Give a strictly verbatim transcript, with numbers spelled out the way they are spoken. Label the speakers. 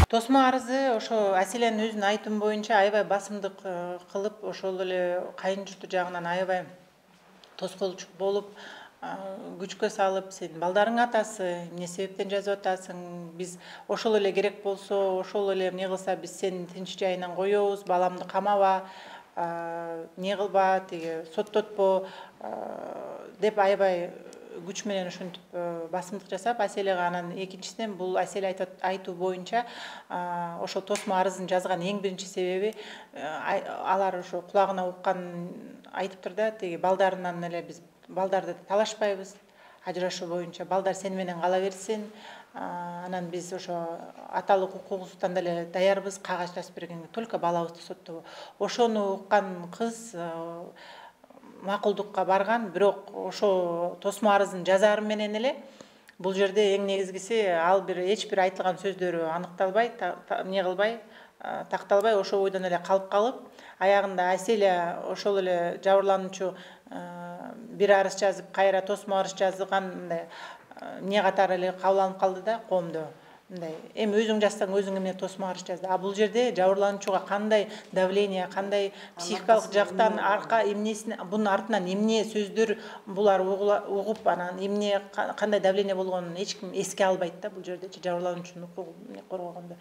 Speaker 1: Тосмо арызы ошо Аселянын өзүнүн айтымы боюнча аябай басымдык кылып, ошол эле кайын журту жагынан аябай тоскоолчу болуп, күчкө салып, сен балдарың атасы, эмне себептен жазып атасың, биз ошол эле керек болсо, ошол эле эмне кылса биз сени тынч жайынан коебуз, баламды камаба, эмне кылба, тиги соттотпо деп аябай күч менен ушинтип басымдык жасап, Аселяга анан экинчисинен бул Аселя айтуу боюнча ошол тосмо арызын жазган эң биринчи себеби алар ошо кулагына укканын айтыптыр да, тиги балдарынан эле биз балдарды талашпайбыз, ажырашуу боюнча балдар сени менен кала берсин, анан биз ошо аталык укугубуздан деле даярбыз, кагаз жазып бергенге, только балабызды соттобо. Ошону уккан кыз макулдукка барган, бирок ошо тосмо арызын жазаары менен эле бул жерде эң негизгиси ал бир эч бир айтылган сөздөрү аныкталбай, эмне кылбай, такталбай ошол бойдон эле калып калып, аягында Аселя ошол эле жабырлануучу бир арыз жазып, кайра тосмо арыз жазган эмне катары эле кабыл алынып калды да коомдо. Мындай, эми өзүң жазсаң өзүң эмне тосмо арыз жазды. А бул жерде жабырлануучуга кандай давление, кандай психикалык жактан арка эмнесин, бунун артынан эмне сөздөр булар угуп, анан эмне кандай давление болгонун эч ким эске албайт да бул жердечи жабырлануучунун укугун коргогондо.